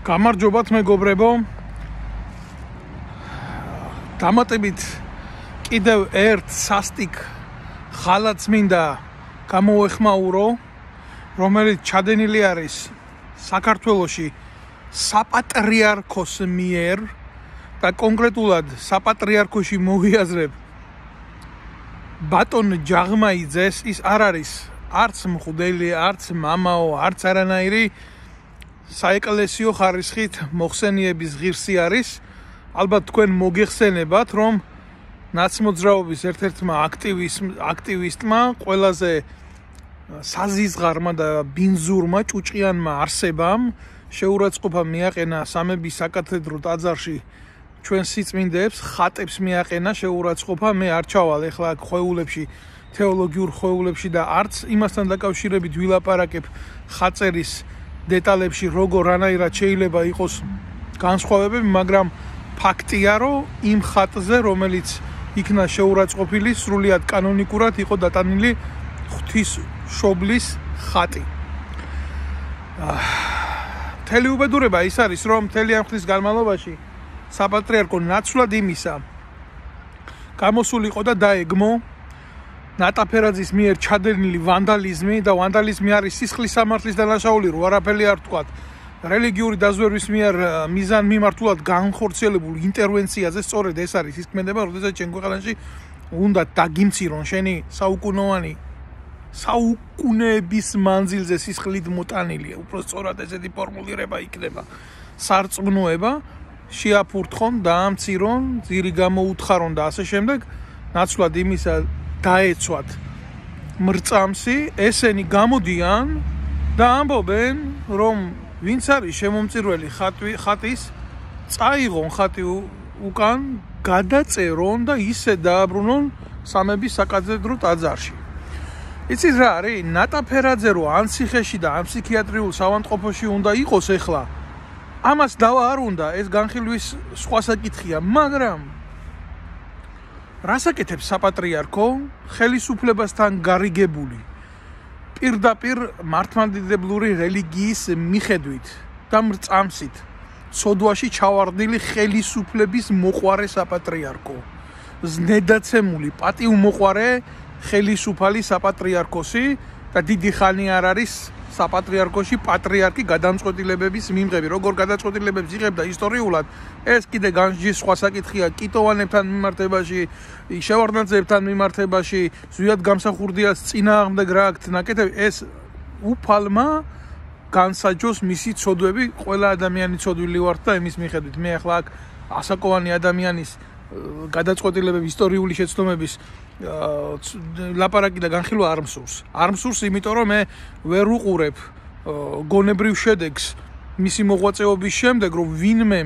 გამარჯობათ მეგობრებო. დამატებით კიდევ ერთ სასტიკ ხალათს მინდა გამოეხმაურო, რომელიც ჩადენილი არის საქართველოში საპატრიარქოს მიერ და კონკრეტულად საპატრიარქოში მოვიაზრებ ბატონ ჯაღმაიძეს. ის არ არის არც მღვდელი, არც მამაო, არც არანაირი საეკლესიო ხარისხით მოხსენიების ღირსი არის. ალბათ თქვენ მოგეხსენებათ, რომ ნაცმოძრაობის ერთ-ერთმა აქტივისტმა, ყველაზე საზიზღარმა და ბინძურმა ჭუჭყიანმა არსებამ შეურაცხყოფა მიაყენა სამების საკათედრო ტაძარში ჩვენ სიწმინდეებს, ხატებს მიაყენა შეურაცხყოფა. მე არ ჩავალ ეხლა აქ ხვეულებში, თეოლოგიურ ხვეულებში და არც იმასთან დაკავშირებით ვილაპარაკებ ხაწერის დეტალებში, როგორ რანაირად შეიძლება იყოს განსხვავებები, მაგრამ ფაქტია, რომ იმ ხატზე, რომელიც იქნა შეურაცხყოფილი, სრულიად კანონიკურად იყო დატანილი ღვთისმშობლის ხატი. მთელი უბედურება ის არის, რომ მთელი ამ ხნის განმავლობაში საპატრიარქო ნაცვლად იმისა გამოსულიყო და დაეგმო ნატაფერაძის მიერ ჩადენილი ვანდალიზმი და ვანდალიზმი არის სისხლის სამართლის დანაშაული, რო არაფერი არ თქვათ. რელიგიური დაზვერვის მიერ მიზან მიმართულად განხორციელებულ ინტერვენციაზე სწორედ ეს არის ის ქმედება, როდესაც ჩვენ ქვეყანაში უნდა დაგიმცირონ შენი საუკუნეების მანძილზე სისხლით მოტანილი, უბრალოდ ესეთი ფორმულირება იქნება. სარწმუნოება შეაფურთხონ, დაამცირონ, ძირი გამოუთხარონ და ასე შემდეგ. ნაცვლად იმისა დაეცვათ მრწამსი, ესენი გამოდიან და ამბობენ, რომ ვინც არის შემომწირველი ხატის, წაიღონ ხატი უკან, გადაწერონ და ისე დააბრუნონ სამების საკათედრო ტაძარში. იცით რა არის? ნატაფერაძე რო ან ციხეში და ან ფსიქიატრიულ საავადმყოფოში უნდა იყოს ეხლა, ამას დავა არ უნდა, ეს განხილვის სხვა საკითხია, მაგრამ რას აკეთებს საპატრიარქო ხელისუფლებასთან გარიგებული პირდაპირ მართლმადიდებლური რელიგიის მიხედვით და მრწამსით სოდვაში ჩავარდნილი ხელისუფლების მოყვარე საპატრიარქო, ზნედაცემული პატივმოყვარე ხელისუფალი საპატრიარქოსი და დიდი ხანი არ არის საპატრიარქოში პატრიარქი გადამწყვეტილებების მიმღები. როგორ გადაწყვეტილებებს იღებდა ისტორიულად, ეს კიდე განსჯის სხვა საკითხია. კიტოვანებთან მიმართებაში, შევარდნაძეებთან მიმართებაში, ზვიად გამსახურდიას წინააღმდეგ რა აქ ნაკეთები, ეს უფალმა განსაჯოს მისი ცოდვები. ყველა ადამიანი ცოდვილი ვართ და იმის მიხედვით. მე ახლა აქ ასაკოვანი ადამიანის გადაწყვეტილებების ისტორიული შეცდომების ლაპარაკი და განხილვა არ მსურს. არ მსურს, იმიტომ რომ მე ვერ უყურებ გონებრივ შედეგს მისი მოღვაწეობის შემდეგ, რომ ვინმე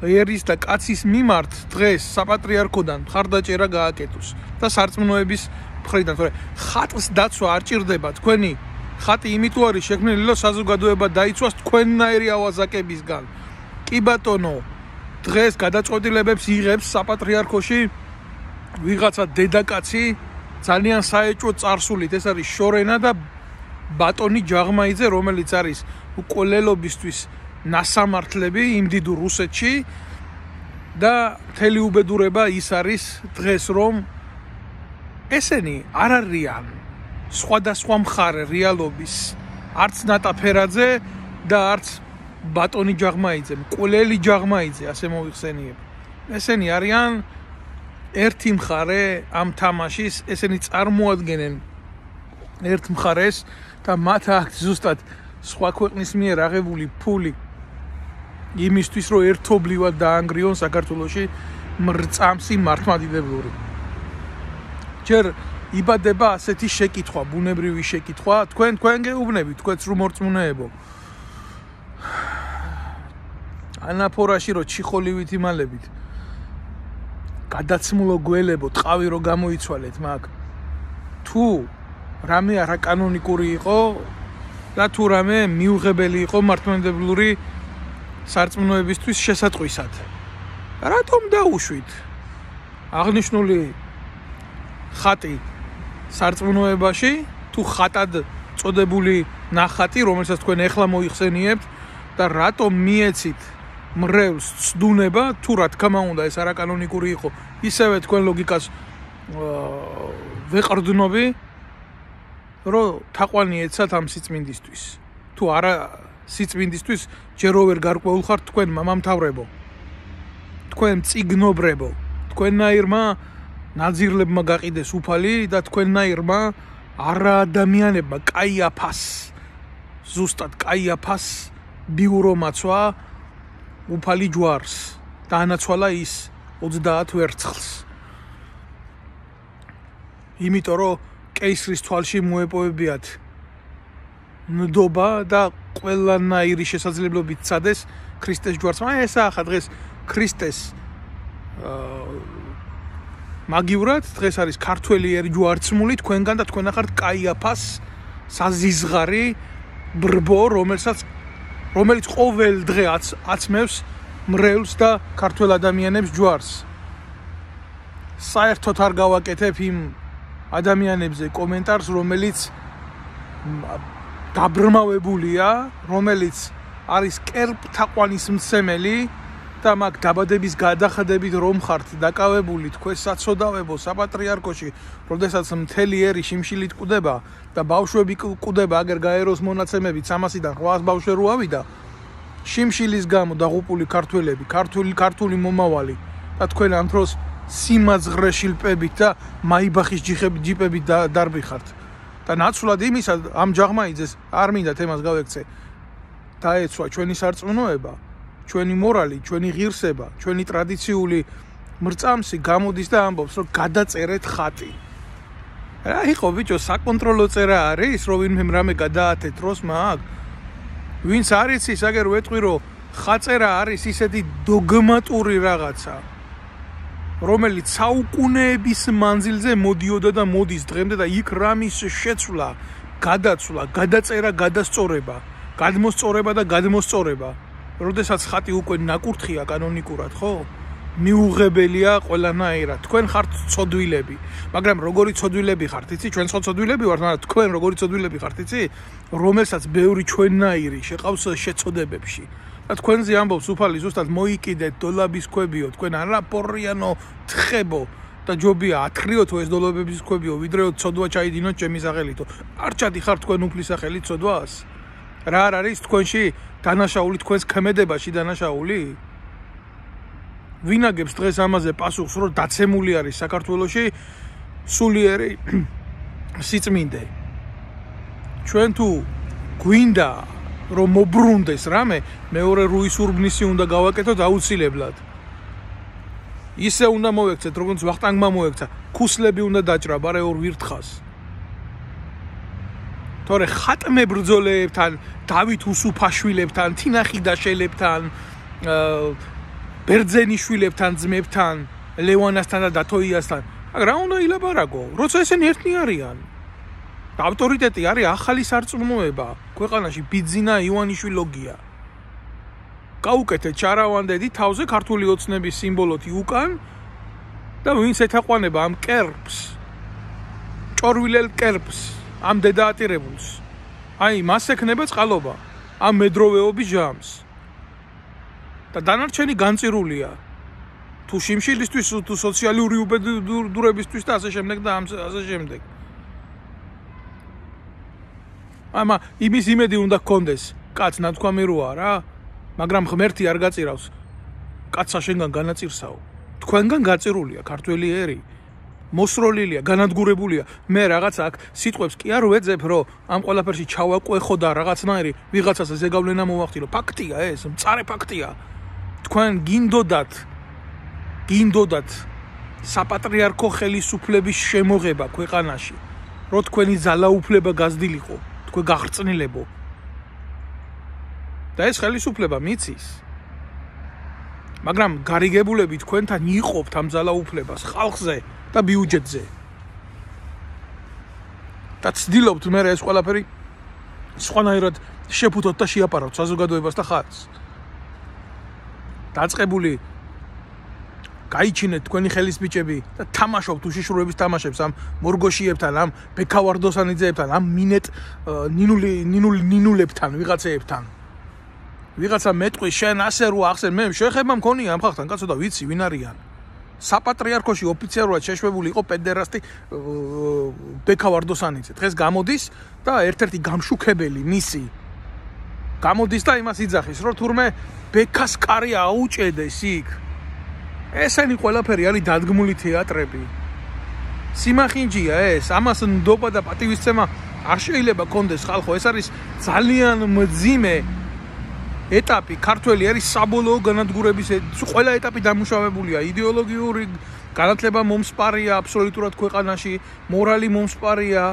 ერის და კაცის მიმართ დღეს საპატრიარქოდან მხარდაჭერა გააკეთოს და სარწმუნოების მხრიდან. თორე ხატს დაცვა არ ჭირდება. თქვენი ხატი იმიტომ არის შექმნილი, რომ საზოგადოება დაიცვას თქვენნაირი ავაზაკებისგან. კი ბატონო, დღეს გადაწყვეტილებებს იღებს საპატრიარქოში ვიღაცა დედაკაცი ძალიან საეჭვო წარსულით. ეს არის შორენა და ბატონი ჯაღმაიძე, რომელიც არის უკოლელობისთვის ნასამართლები იმ დიდ რუსეთში და მთელი უბედურება ის არის დღეს, რომ ესენი არ არიან სხვადასხვა მხარე რეალობის, არც ნატაფერაძე და არც ბატონი ჯაღმაიძე, მკვლელი ჯაღმაიძე, ასე მოიხსენიებ. ესენი არიან ერთი მხარე ამ თამაშის, ესენი წარმოადგენენ ერთ მხარეს და მათ აქვს ზუსტად სხვა ქვეყნის მიერ აღებული ფული იმისთვის, რომ ერთობლივად დაანგრიონ საქართველოში მრწამსი მართლმადიდებლური. ჯერ იბადება ასეთი შეკითხვა, ბუნებრივი შეკითხვა, თქვენ გეუბნებით, თქვენც რომ მორწმუნეებო. ანაფორაში რო ჩიხოლივით იმალებით გადაცმულო გველებო, ტყავი რო გამოიცვალეთ მაგ. თუ რამე არაკანონიკური იყო და თუ რამე მიუღებელი იყო მართლმადიდებლური სარწმუნოებისთვის შესატყვისად. რატომ დაუშვით აღნიშნული ხატი სარწმუნოებაში, თუ ხატად წოდებული ნახატი, რომელსაც თქვენ ეხლა მოიხსენიებთ და რატომ მიეცით მრევლს ცდუნება, თუ რა თქმა უნდა ეს არაკანონიკური იყო, ისევე თქვენ ლოგიკას ვეყრდნობი, რომ თაყვანი ეცათ ამ სიწმინდისთვის. თუ არა სიწმინდისთვის ჯერო ვერ გარკვეულ ხართ თქვენ მამამთავრებო, თქვენ წიგნობრებო, თქვენნაირმა ნაძირლებმა გაყიდეს უფალი და თქვენნაირმა არაადამიანებმა კაიაფას, ზუსტად კაიაფას ბიურომაცვა უფალი ჯვარს და ანაცვალა ის 30 ვერცხლს. იმიტომ რომ კეისრის თვალში მოეპოვებიათ ნდობა და ყველანაირი შესაძლებლობით წადეს ქრისტეს ჯვარს. ესა ახლა დღეს ქრისტეს მაგივრად დღეს არის ქართველიერი ჯვარცმული თქვენგან და თქვენ ახართ კაიაფას საზიზღარი ბრბო, რომელიც ყოველ დღე აცმევს მრევლს და ქართველ ადამიანებს ჯვარს. საერთოდ არ გავაკეთებ იმ ადამიანებზე კომენტარს, რომელიც დაბრმავებულია, რომელიც არის კერპთაყვანის მცემელი და მაგ დაბადების გადახედებით რომ ხართ დაკავებული თქვენ საცოდავებო საპატრიარქოში, როდესაც მთელი ერი შიმშილით კვდება და ბავშვები კვდება, აგერ გაეროს მონაცემებით 300-დან 800 ბავშვი რო ავიდა, შიმშილის გამო დაღუპული ქართველები, ქართული მომავალი და თქვენ ამ დროს სიმაძღრეში ლპებით და მაიბახის ჯიპებით დარბიხართ. და ნაცვლად იმისა ამ ჯაღმაიძეს არ მინდა თემას გავექცე. დაეცვა ჩვენი სარწმუნოება, ჩვენი მორალი, ჩვენი ღირსება, ჩვენი ტრადიციული მრწამსი გამოდის და ამბობს, რომ გადაწერეთ ხატი. რა იყო ბიჭო, საკონტროლო წერა არის, რომ ვინმე რამე გადაათეთ დროს მაგ? ვინც არ იცის, აგერ ვეტყვი, რომ ხაწერა არის ისეთი დოგმატური რაღაცა, რომელიც საუკუნეების მანძილზე მოდიოდა და მოდის დღემდე და იქ რამის შეცვლა, გადაცვლა, გადაწერა, გადასწორება, გადმოსწორება და გადმოსწორება. როდესაც ხატი უკვე ნაკურთხია კანონიკურად, ხო? მიუღებელია ყველანაირად. თქვენ ხართ ცოდვილები, მაგრამ როგორი ცოდვილები ხართ, იცი? ჩვენ ცოდვილები ვართ, მაგრამ თქვენ როგორი ცოდვილები ხართ, იცი? რომელსაც ბევრი ჩვენნაირი შეყავს შეწოდებებში. და თქვენზე ამბობს უფალი ზუსტად მოიკიდეთ დოლაბის ქვებიო, თქვენ არაფორიანო თხებო და ჯობია ათხრიოთო ეს დოლაბების ქვებიო, ვიდრეო ცოდვა ჩაიდინოთ ჩემი სახელითო. არ ჩადიხართ თქვენ უფლის სახელით ცოდვას? რა არ არის თქვენში დანაშაული, თქვენს ქმედებაში დანაშაული? ვინაგებს დღეს ამაზე პასუხს, რომ დაცემული არის საქართველოში სულიერი სიწმინდე. ჩვენ თუ გვინდა რომ მობრუნდეს რამე, მეორე რუის ურბნისი უნდა გავაკეთოთ აუცილებლად. ისე უნდა მოვექცეთ, როგორც ვახტანგმა მოექცა, ქუსლები უნდა დაჭრა ბარე ორ ვირთხას. თორე ხატმე ბრძოლეებთან, დავით უსუფაშვილებთან, თინახიდაშელებთან, ბერძენიშვილებთან, ძმებთან, ლევანასთან და დათოიასთან, რა უნდა ილაპარაკო? როცა ესენი ერთნი არიან. და ავტორიტეტი არის ახალი სარწმუნოება ქვეყანაში, ბიძინა ივანიშვილოგია. გაუკეთეთ ჩარავანდედი თავზე ქართული ოცნების სიმბოლოთი უკან და ვინც ეთაყვანება ამ კერპს, ჭორვილელ კერპს, ამ დედაატირებულს, აი მას ექნება წყალობა, ამ მედროვეობის ჟამს. და დანარჩენი განწირულია. თუ შიმშილისთვის, თუ სოციალური უბედურებისთვის და ასე შემდეგ და ასე შემდეგ. ამა იმის იმედი უნდა გქონდეს, კაც ნათქვამი როა რა, მაგრამ ღმერთი არ გაწირავს. კაცსა შენგან განაწირსაო. თქვენგან გაწირულია ქართველი ერი. მოსროლილია, განადგურებულია. მე რაღაც აქ სიტყვებს კი არ ვეძებ, რომ ამ ყველაფერში ჩავაკვეხო და რაღაცნაირი ვიღაცაზე ზეგავლენა მოვახდინო. ფაქტია ეს, მწარე ფაქტია. თქვენ გინდოდათ საპატრიარქო ხელისუფლების შემოღება ქვეყანაში, რომ თქვენი ძალაუფლება გაზრდილიყო, თქვენ გახრწნილებო. და ეს ხელისუფლება მიცის. მაგრამ გარიგებულები თქვენთან იყოფთ ამ ძალაუფლებას ხალხზე და ბიუჯეტზე. და ცდილობთ მე ეს ყველაფერი სხვანაირად შეფუთოთ და შეაპარავთ საზოგადოებას და ხალხს. დაწყებული გაიჩინეთ თქვენი ხელის ბიჭები და თამაშობთ უშიშროების თამაშებს ამ მორგოშიებთან, ამ ბექავარდოსანიძეებთან, ამ ნინულებთან, ვიღაცეებთან. ვიღაცა მეტყვის შენ ასე რო ახსენ მე შეხება მქონია ამ ხალხთან კაცო და ვიცი ვინ არიან საპატრიარქოში ოფიციალურად შეშვებული იყო პედერასტი ბექავარდოსანიძე დღეს გამოდის და ერთ-ერთი გამშუქებელი მისი გამოდის და იმას იძახის რომ თურმე ბექას კარი აუჭედეს იქ ესენი ყველაფერი არის დადგმული თეატრები სიმახინჯია ეს ამას ნდობა და პატივისცემა არ შეიძლება კონდეს ხალხო ეს არის ძალიან მძიმე ეტაპი ქართველი არის საბოლოო განადგურების ყველა ეტაპი დამუშავებულია იდეოლოგიური განათლება მომსპარია აბსოლუტურად ქვეყანაში მორალი მომსპარია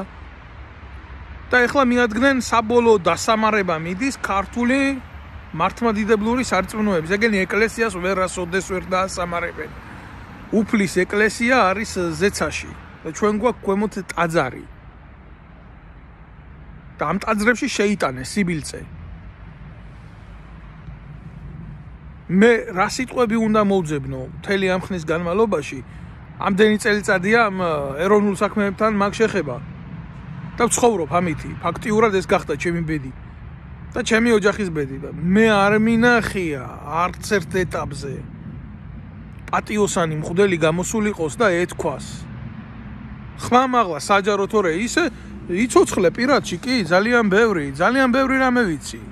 და ეხლა მიადგნენ საბოლოო დასამარება მიდის ქართული მართლმადიდებლური სარწმუნოების ეგენი ეკლესიას ვერასოდეს ვერ დაასამარებენ უფლის ეკლესია არის ზეცაში და ჩვენ გვაქვს ქვემოთ ტაძარი და ამ ტაძრებში შეიტანეს სიბილწე მე რა სიტყვები უნდა მოვძებნო მთელი ამ ხნის განმავლობაში ამდენი წელიწადია ეროვნულ საქმეებთან მაგ შეხება და ვცხოვრობ ამითი ფაქტიურად ეს გახდა ჩემი ბედი და ჩემი ოჯახის ბედი და მე არ მინახია არც ერთ ეტაპზე პატიოსანი მღვდელი გამოსულიყოს და ეთქვას ხმამაღლა საჯარო თორე ისე იცოცხლე პირადში კი ძალიან ბევრი რამე ვიცი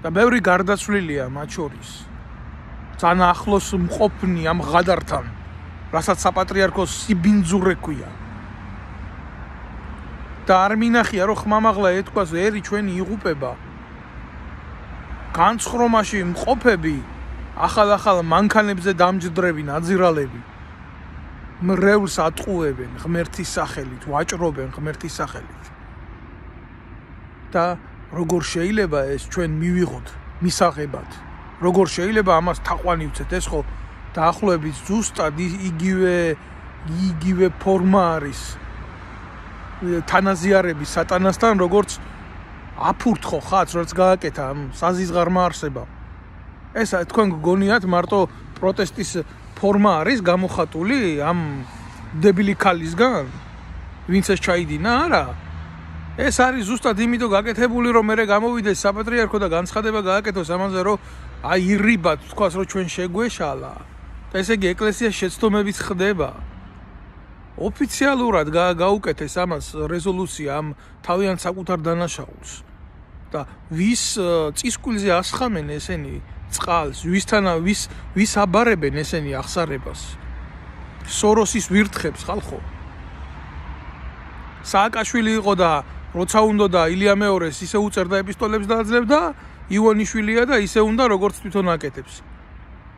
და ბევრი გარდაცვლილია მათ შორის ძალიან ახლოს მყოფნი ამ ღადართან რასაც საპატრიარქოს სიბინძურე ქვია და არ მინახია რომ ხმამაღლა ეთქვას ერი ჩვენი იღუპება განცხრომაში მყოფები ახალ მანქანებზე დამჯდრები ნაძირალები მრევლს ატყუებენ ღმერთის სახელით ვაჭრობენ ღმერთის სახელით და როგორ შეიძლება ეს ჩვენ მივიღოთ მისაღებად როგორ შეიძლება ამას თაყვანი ვცეთ ეს ხო დაახლოებით ზუსტად იგივე ფორმა არის თანაზიარების სატანასთან როგორც აფურთხო ხაც რაც გააკეთა ამ საზიზღარმა არსებამ ეს თქვენ გგონიათ მარტო პროტესტის ფორმა არის გამოხატული ამ დებილი ქალისგან ვინც ეს ჩაიდინა არა ეს არის ზუსტად იმიტომ გაკეთებული რომ მე გამოვიდეს საპატრიარქო და განცხადება გააკეთოს ამაზე რომ აი ირიბად თქვას რომ ჩვენ შეგვეშალა და ესე იგი ეკლესია შეცდომებით ხდება ოფიციალურად გაუკეთეს ამას რეზოლუცია ამ თავიანთ საკუთარ დანაშაულს და ვის წისკვილზე ასხამენ ესენი წყალს ვის აბარებენ ესენი აღსარებას სოროსის ვირთხებს ხალხო სააკაშვილი იყო და როცა უნდა და ილია მეორეს ისე უწერდა ეპისტოლებს და აძლევდა ივონიშვილია და ისე უნდა როგორც თვითონ აკეთებს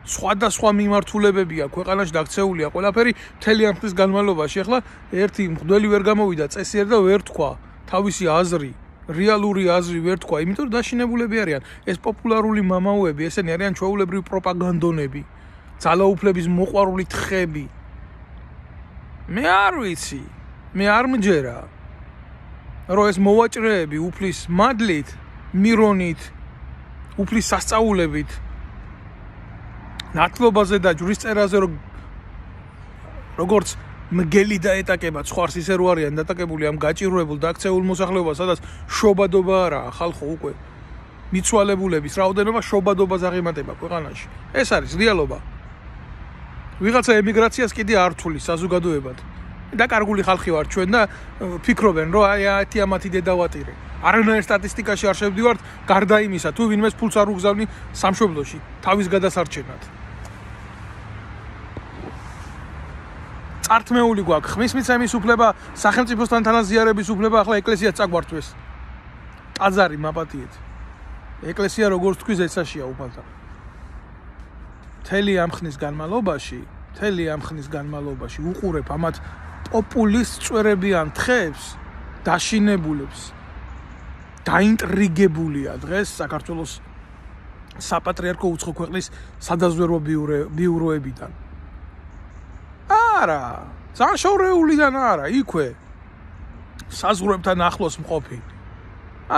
სხვადასხვა მიმართულებებია ქვეყანაში დაქცეულია ყველაფერი მთელი ამ ხნის განმავლობაში ახლა ერთი მღვდელი ვერ გამოვიდა წესიერ და ვერ თქვა თავისი აზრი რეალური აზრი ვერ თქვა იმიტომ რომ დაშინებულები არიან ეს პოპულარული მამაოები ესენი არიან ჩვეულებრივი პროპაგანდონები ძალაუფლების მოყვარული თხები მე არ ვიცი მე არ მჯერა რომ ეს მოვაჭრეები უფლის მადლით მირონით უფლის სასწაულებით ნათლობაზე და ჯვრისწერაზე როგორც მგელი დაეტაკება ცხარს ისე რო არიან დატაკებული ამ გაჭირვებულ და აქცეულ მოსახლეობას სადაც შობადობა არაა ხალხო უკვე მიცვალებულების რაოდენობა შობადობას აღემატება ქვეყანაში ეს არის რეალობა ვიღაცა ემიგრაციას კიდე არ თulis საზოგადოებად დაკარგული ხალხი ვარ ჩვენ და ფიქრობენ რომ აი ათი ამათი დედავატირე არანაირ სტატისტიკაში არ შევდივართ გარდა იმისა თუ ვინმეს ფულს არ უგზავნი სამშობლოში თავის გადასარჩენად ართმეული გვაქვს ხმის მიცემის უფლება სახელმწიფოსთან თანაზიარების უფლება ახლა ეკლესიას წაგვართვეს ტაძარი მაპატიეთ ეკლესია როგორც თქვი ზეცაშია უფალთა მთელი ამ ხნის განმავლობაში უყურებ ამათ პოპულისტ წვერებიან თხებს დაშინებულებს დაინტრიგებულია დღეს საქართველოს საპატრიარქო უცხო ქვეყნის სადაზვერვო ბიუროებიდან არა საშორეულიდან არა იქვე საზღვრებთან ახლოს მყოფი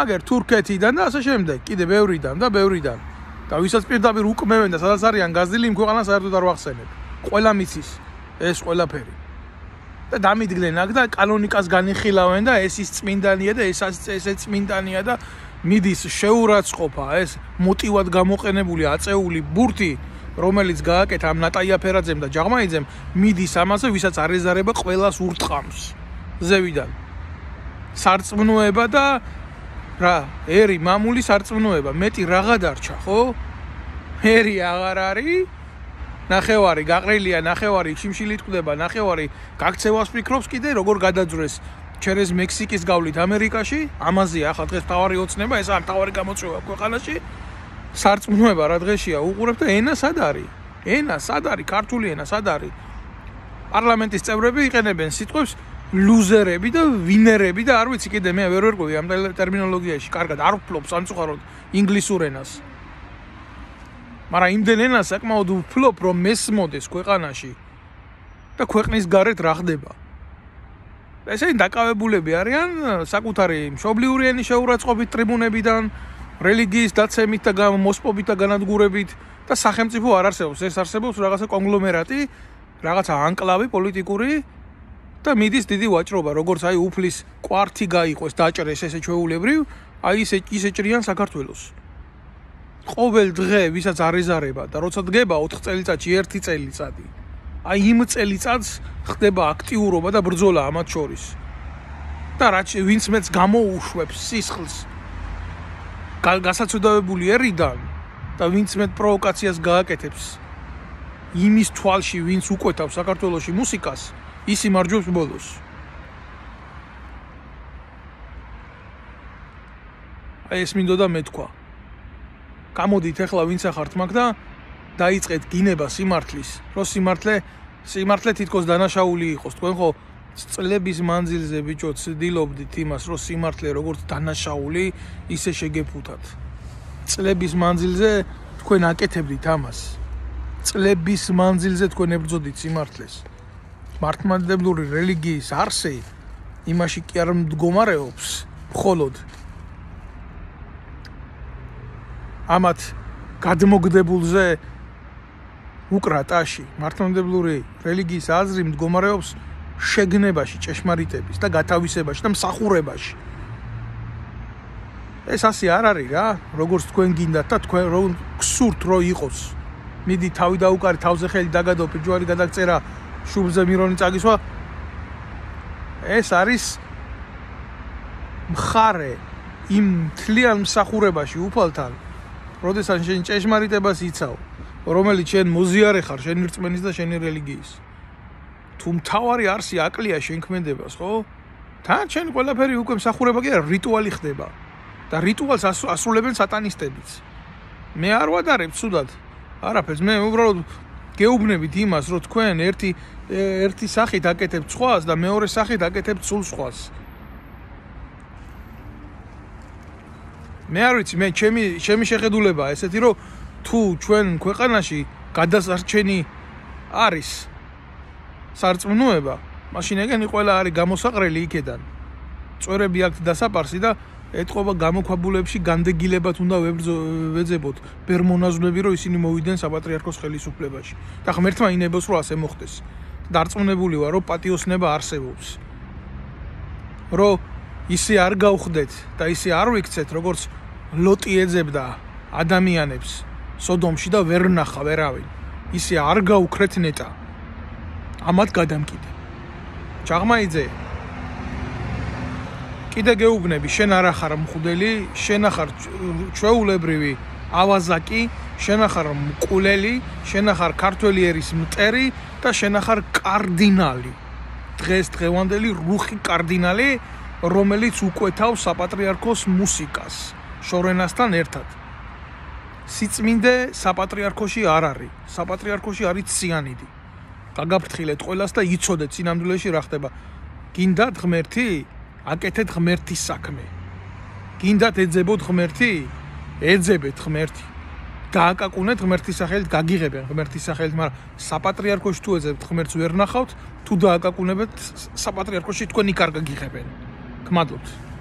აგერ თურქეთიდან და ასე შემდეგ კიდე ბევრიდან და ვისაც პირდაპირ უკმევენ და სადაც არიან გაზრდილი იმ ქვეყანას საერთოდ არ ვახსენებ ყველა მიცის ეს ყველაფერი და დამიდგნენ აქ და კანონიკას განიხილავენ და ეს ის წმინდანია და ესეც წმინდანია და მიდის შეურაცხყოფა, ეს მოტივად გამოყენებული აწეული ბურთი, რომელიც გააკეთა ამ ნატაია ფერაძემ და ჯაღმაიძემ, მიდის ამაზე, ვისაც არ ეზარება ყველას ურტყამს ზევიდან. სარწმუნოება და რა, ერი მამული სარწმუნოება, მეტი რაღა დარჩა, ხო? ერი აღარ არის. ნახევარი გაყრილია, ნახევარი შიმშილით ყვდება, ნახევარი გაქცევას ფიქრობს კიდე როგორ გადაძრეს ჩერეს მექსიკის გავლით ამერიკაში, ამაზეა ახლა დღეს თავარი ოცნება, ეს არ თავარი გამოწვევა ქვეყანაში. სარწმუნოება რა დღეშია უყურებ და ენა სად არის? ენა სად არის? ქართული ენა სად არის? პარლამენტის წევრები იყენებენ სიტყვებს ლუზერები და ვინერები და არ ვიცი კიდე მე ვერ ვერკვევი ამ ტერმინოლოგიაში, კარგად არ ვფლობ სამწუხაროდ ინგლისურ ენას. მაგრამ იმდენ ენას საკმაოდ ვფლობ, რომ მესმოდეს ქვეყანაში და ქვეყნის გარეთ რა ხდება. ესენი დაკავებულები არიან საკუთარი მშობლიური ენის შეურაცხყოფით ტრიბუნებიდან, რელიგიის დაცემით და მოსპობით და განადგურებით და სახელმწიფო არ არსებობს, ეს არსებობს რაღაცა კონგლომერატი, რაღაცა ანკლავი პოლიტიკური და მიდის დიდი ვაჭრობა, როგორც აი უფლის კვართი გაიყოს, დაჭრეს ესე ჩვეულებრივ, აი ისე ჭრიან საქართველოს. ყოველ დღე ვისაც არ ეზარება და როცა დგება 4 წელიწადში 1 წელიწადი. აი იმ წელიწადს ხდება აქტიურობა და ბრძოლა ამათ შორის. და რაც ვინც მეც გამოუშვებს სისხლს გასაცოდავებული ერიდან და ვინც მე პროვოკაციას გააკეთებს იმის თვალში, ვინც უკვეთავს საქართველოში მუსიკას, ის იმარჯვებს ბოლოს. აი ეს მინდოდა მეთქვა. გამოდით ახლა ვინც ახართ მაგ და დაიწყეთ გინება სიმართლის, რომ სიმართლე თითქოს დანაშაული იყოს. თქვენ ხო წლების მანძილზე ბიჭო ცდილობდით იმას, რომ სიმართლე როგორც დანაშაული ისე შეგეფუთათ. წლების მანძილზე თქვენ აკეთებდით ამას. წლების მანძილზე თქვენ ებრძოდით სიმართლეს. მართლმადიდებლური რელიგიის არსი იმაში კი არ მდგომარეობს, მხოლოდ ამათ გადმოგდებულზე უკრატაში. მართლმადიდებლური რელიგიის აზრი მდგომარეობს შეგნებაში, ჭეშმარიტების და გათავისებაში და მსახურებაში. ეს ასე არ არის რა, როგორც თქვენ გინდათ და თქვენ რომ გსურთ რომ იყოს. მიდი თავი დაუკარი, თავზე ხელი დაგადო, პირჯვარი გადაგწერა, შუბლზე მირონი წაგისვა. ეს არის მხარე იმ მთლიან მსახურებაში უფალთან, როდესაც შენ ჭეშმარიტებას იცავ, რომელიც შენ მოზიარე ხარ შენი რწმენის და შენი რელიგიის. თუ მთავარი არსი აკლია შენ ქმედებას, ხო? თან შენ ყველაფერი უკვე მსახურება კი არა, რიტუალი ხდება. და რიტუალს ასრულებენ სატანისტებიც. მე არ ვადარებ ცუდად. არაფერს, მე უბრალოდ გეუბნებით იმას, რომ თქვენ ერთი სახით აკეთებთ სხვას და მეორე სახით აკეთებთ სულ სხვას. მე არ ვიცი, მე ჩემი შეხედულება ესეთი, რომ თუ ჩვენ ქვეყანაში გადასარჩენი არის სარწმუნოება, მაშინ ეგენი ყველა არის გამოსაყრელი იქედან. წვერები აქვს დასაპარსი და ეთყობა გამოქვაბულებში განდეგილებად უნდა ვეძებოთ ბერმონაზვნები, რომ ისინი მოვიდნენ საპატრიარქოს ხელისუფლებაში. და ღმერთმა ინებოს, რომ ასე მოხდეს. დარწმუნებული ვარ, რომ პატიოსნება არსებობს. რომ ისე არ გავხდეთ და ისე არ ვიქცეთ, როგორც ლოტი ეძებდა ადამიანებს სოდომში და ვერ ნახა ვერავინ. ისე არ გაუქრეთ ნეტა. ამათ გადამკიდე. ჯაღმაიძე კიდე გეუბნები, შენ არ ახარ მხვდელი, შენ ახარ ჩვეულებრივი ავაზაკი, შენ ახარ მკულელი, შენ ახარ ქართველი ერის მტერი და შენ ახარ კარდინალი. დღევანდელი რუხი კარდინალი, რომელიც უკვეთავს საპატრიარქოს მუსიკას შორენასთან ერთად. სიწმინდე საპატრიარქოში არ არის. საპატრიარქოში არის ციანიდი. გაგაფრთხილეთ ყველას და იცოდეთ სინამდვილეში რა ხდება. გინდათ ღმერთი? აკეთეთ ღმერთის საქმე. გინდათ ეძებოთ ღმერთი? ეძებეთ ღმერთი. გააკაკუნეთ ღმერთის სახელით, გაგიღებენ ღმერთის სახელით, მაგრამ საპატრიარქოში თუ ეძებთ ღმერთს ვერ ნახავთ, თუ დააკაკუნებთ საპატრიარქოში თქვენ იქ არ გაგიღებენ. გმადლობთ.